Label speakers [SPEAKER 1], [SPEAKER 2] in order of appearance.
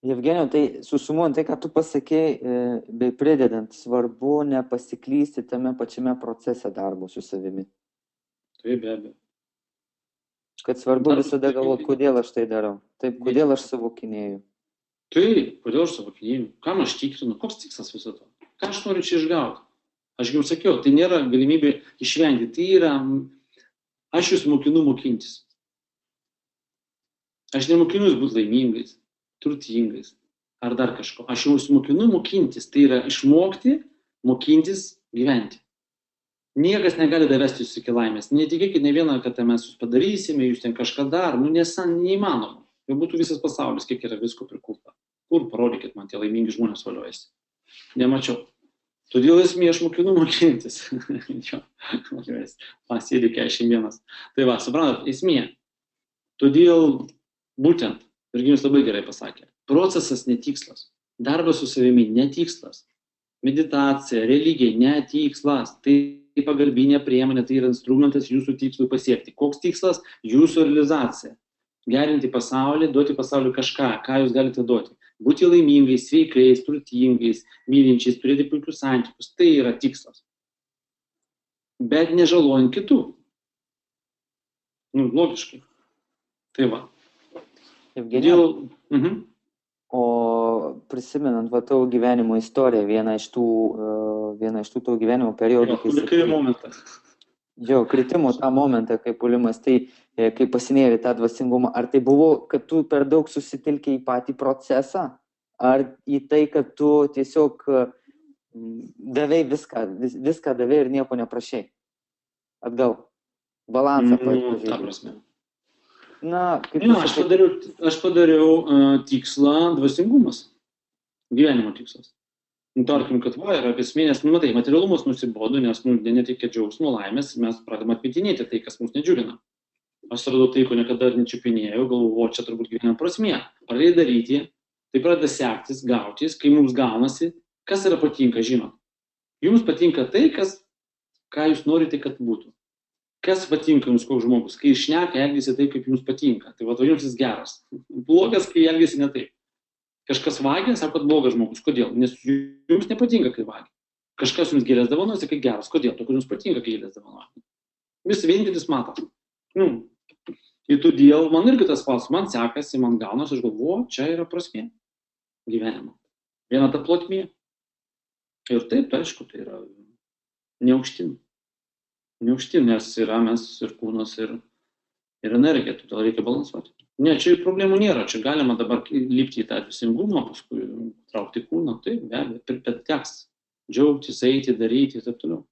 [SPEAKER 1] Jevgenijau, tai susumuojant tai, ką tu pasakėjai, bei pridedant, svarbu nepasiklysti tame pačiame procese darbo su savimi.
[SPEAKER 2] Taip, be abejo.
[SPEAKER 1] Kad svarbu visada galvoti, kodėl aš tai darau. Taip, kodėl aš savokinėju.
[SPEAKER 2] Taip, kodėl aš savokinėju, kam aš tikrinu, koks tikslas viso to, ką aš noriu čia išgauti. Aš jau sakiau, tai nėra galimybė išvengti, tai yra, aš jūs mokinu mokintis. Aš nemokinu jūs būti laimingais, turtingais ar dar kažko. Aš jūs mokinu mokintis, tai yra išmokti, mokintis, gyventi. Niekas negali davesti jūs iki laimės. Netikėkit ne vieną, kad mes jūs padarysime, jūs ten kažką dar, neįmanoma. Tai būtų visas pasaulis, kiek yra visko prikulta. Kur parodykit man tie laimingi žmonės valiojasi. Nemačiau. Todėl esmė aš mokinu mokintis. Pasėdė 41. Tai va, suprantat, esmė. Todėl būtent, Virginijus labai gerai pasakė, procesas netikslas. Darbas su savimi netikslas. Meditacija, religija netikslas. Tai pagalbinė priemonė, tai yra instrumentas jūsų tikslui pasiekti. Koks tikslas? Jūsų realizacija. Gerinti pasaulį, duoti pasauliu kažką, ką jūs galite duoti. Būti laimingais, sveikais, turtingais, mylinčiais, turėti puikius santykius. Tai yra tikslas. Bet nežalojant kitų. Logiškai. Tai va.
[SPEAKER 1] Evgenijau, o prisimenant va tavo gyvenimo istoriją, vieną iš tų tavo gyvenimo periodų, kritimo tą momentą, kai puolimas, tai kai pasinėrė tą dvasingumą, ar tai buvo, kad tu per daug susitelkė į patį procesą, ar į tai, kad tu tiesiog davai viską davai ir nieko neprašai? Atgal, balansą pažiūrėjau.
[SPEAKER 2] Ta prasme. Aš padariau tikslą dvasingumas, gyvenimo tikslas. Tarkim, kad yra apie esmės, matai, materialumas nusibodo, nes neteikia džiaugsmo, laimės, mes pradedame atmetinėti tai, kas mus nedžiugina. Aš radau tai, ko niekada nečiupinėjau, galvoju, čia turbūt gyvenimo prasmė. Pradėjai daryti, tai pradeda sektis, gautis, kai mums gaunasi, kas yra patinka, žinot. Jums patinka tai, ką jūs norite, kad būtų. Kas patinka jums koks žmogus, kai šneka, elgiasi taip, kaip jums patinka. Tai va, jums jis geras. Blogas, kai elgiasi ne taip. Kažkas vagia, sako, kad blogas žmogus. Kodėl? Nes jums nepatinka, kai vagia. Kažkas jums gėlės dovanos, kai geras. Kodėl? Todėl jums patinka, kai gėlės dovanos. Vis vienintelis mato. Ir todėl man irgi tas pats, man sekasi, man gaunas, aš galvoju, čia yra prasmė gyvenimo. Viena ta plotmė. Ir taip, aišku, tai yra neaukštin. Neaukštin, nes yra mes ir kūnas, ir energija, todėl reikia balansuoti. Ne, čia problemų nėra, čia galima dabar lipti į tą dvasingumą, paskui traukti kūną, taip, be abejo, bet teks džiaugtis, eiti, daryti ir taip toliau.